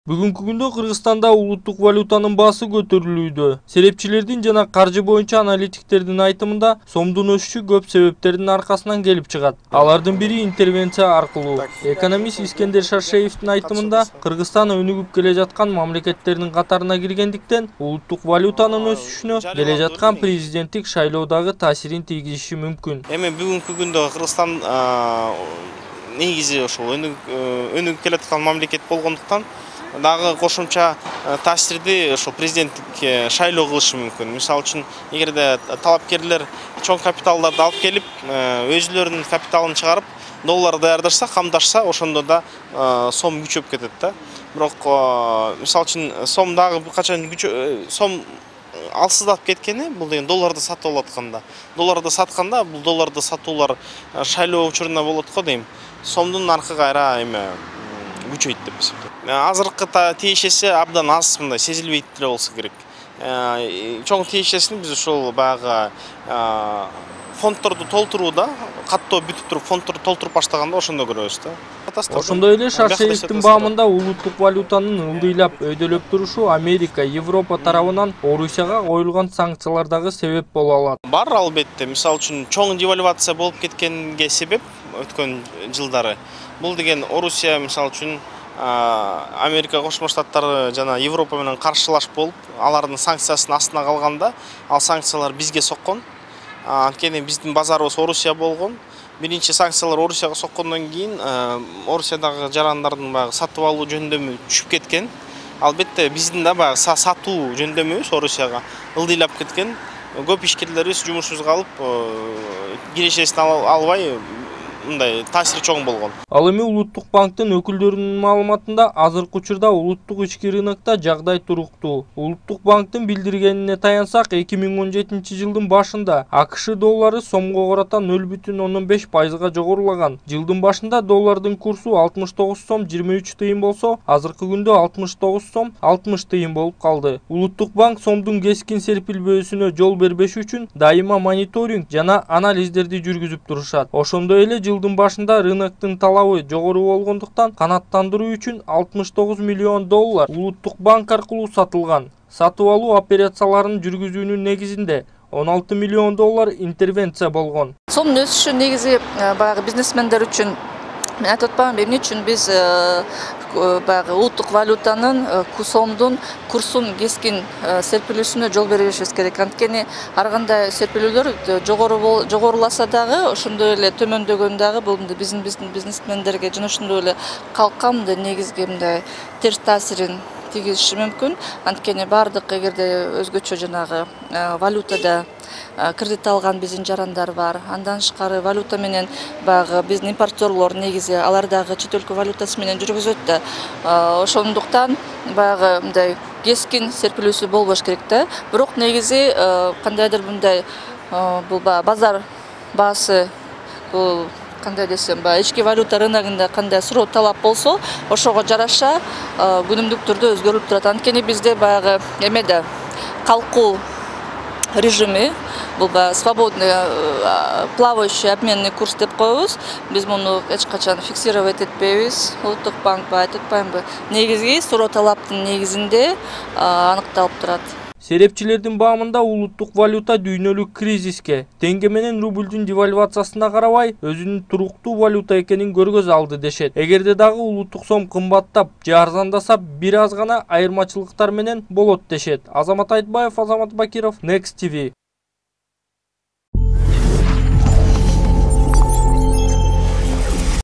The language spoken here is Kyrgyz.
Бүгүнкү күндө Кыргызстанда улуттук валютанын баасы көтөрүлүүдө. Серепчилердин жана каржы боюнча аналитиктердин айтымында сомдун өсүшү көп себептердин аркасынан келип чыгат. Алардын бири интервенция аркылуу. Экономист Искендер Шаршеевдин айтымында Кыргызстан өнүгүп келе жаткан мамлекеттердин катарына киргендиктен улуттук валютанын өсүшүнө келе жаткан президенттик шайлоодагы таасирин тийгизиши мүмкүн. Эми бүгүнкү күндө Кыргызстан негизи ошол өнүгүп келе жаткан мамлекет болгондуктан дагы кошумча таасирди ошол президенттик шайлоо кылышы мүмкүн. Мисалы үчүн, эгерде талапкерлер чоң капиталдарды алып келип, өзүлөрүнүн капиталын чыгарып, доллар даярдашса, камдашса, ошондо да сом күчөп кетет да. Бирок, мисалы үчүн, сом дагы качан сом алсыздап кеткени, бул деген долларды сатып алатканда. Долларды сатканда, бул долларды сатуулар шайлоо учурунда болот го дейм. Сомдун наркы кайра күчөйт деп эсептейм. Азыркы тиешеси абдан аз, мындай сезилбейт эле болсо керек. Чоң тиешесин биз ошол баягы фонддорду толтурууда, каттоо бүтүп туруп фонддорду толтуруп баштаганда ошондо көрөбүз да. Ошондой эле Шаршеевдин баамында улуттук валютанын ылдыйлап өйдөлөп турушу Америка, Европа тарабынан Орусияга коюлган санкциялардагы себеп боло алат. Бар албетте, мисалы үчүн чоң девальвация болуп кеткенге себеп өткөн жылдары. Бул деген Орусия, мисалы үчүн, Америка Кошмо Штаттары жана Европа менен каршылаш болуп, алардын санкциясынын астына калганда, ал санкциялар бизге соккон. Анткени биздин базарыбыз Орусия болгон. Биринчи санкциялар Орусияга соккондон кийин Орусиядагы жарандардын баягы сатып алуу жөндөмү түшүп кеткен. Албетте биздин да баягы сатуу жөндөмүбүз Орусияга ылдыйлап кеткен. Көп ишкерлерибиз жумушсуз калып, кирешесин албай, мындай таасири чоң болгон. Ал эми Улуттук банктын өкүлдөрүнүн маалыматында азыркы учурда улуттук ички рынокто жагдай туруктуу. Улуттук банктын билдиргенине таянсак, 2017 жылдын башында АКШ доллары сомго карата 0,5% жогорулаган. Жылдын башында доллардын курсу 69 сом 23 тыйын болсо, азыркы күндө 69 сом 60 тыйын болуп калды. Улуттук банк сомдун кескин серпилбөөсүнө жол бербеш үчүн дайыма мониторинг жана анализдерди жүргүзүп турушат. Ошондой эле жылдын башында рыноктун талабы жогору болгондуктан канааттандыруу үчүн 69 миллион доллар Улуттук банк аркылуу сатылган. Сатып алуу операцияларын жүргүзүүнүн негизинде 16 миллион доллар интервенция болгон. Сомдун өсүшү негизи баягы бизнесмендер үчүн, мен айтып атпаймынбы, эмне үчүн биз баягы улуттук валютанын сомдун курсун кескин серпилүүсүнө жол бербешибиз керек. Анткени ар кандай серпилүүлөр жогоруласа дагы, ошондой эле төмөндөгөн дагы бул биздин бизнесмендерге жана ошондой эле калкка мындай негизги мындай терс таасирин тийгизиши мүмкүн. Анткени бардык эгерде өзгөчө жанагы валютада кредит алган биздин жарандар бар. Андан тышкары валюта менен баягы биздин импортерлор негизи алар дагы чет өлкө валютасы менен жүргүзөт да. Ошондуктан баягы мындай кескин серпилүүсү болбош керек да. Бирок негизи кандайдыр мындай бул базар баасы, бул кандай десем, ички валюта рыногунда кандай суроо талап болсо, ошого жараша күнүмдүк түрдө өзгөрүлүп турат. Анткени бизде баягы эмеде калкуу режими, бул свободный плавающий обменный курс деп коебуз. Биз муну эч качан фиксировать этпейбиз. Улуттук банк айтып атпаймынбы, негизги суроо талаптын негизинде аныкталып турат. Серепчилердин баамында улуттук валюта дүйнөлүк кризиске, теңге менен рубльдүн девальвациясына карабай, өзүнүн туруктуу валюта экенин көргөзө алды дешет. Эгерде дагы улуттук сом кымбаттап же арзандаса, бир аз гана айырмачылыктар менен болот дешет. Азамат Айтбаев, Азамат Бакиров, Next TV.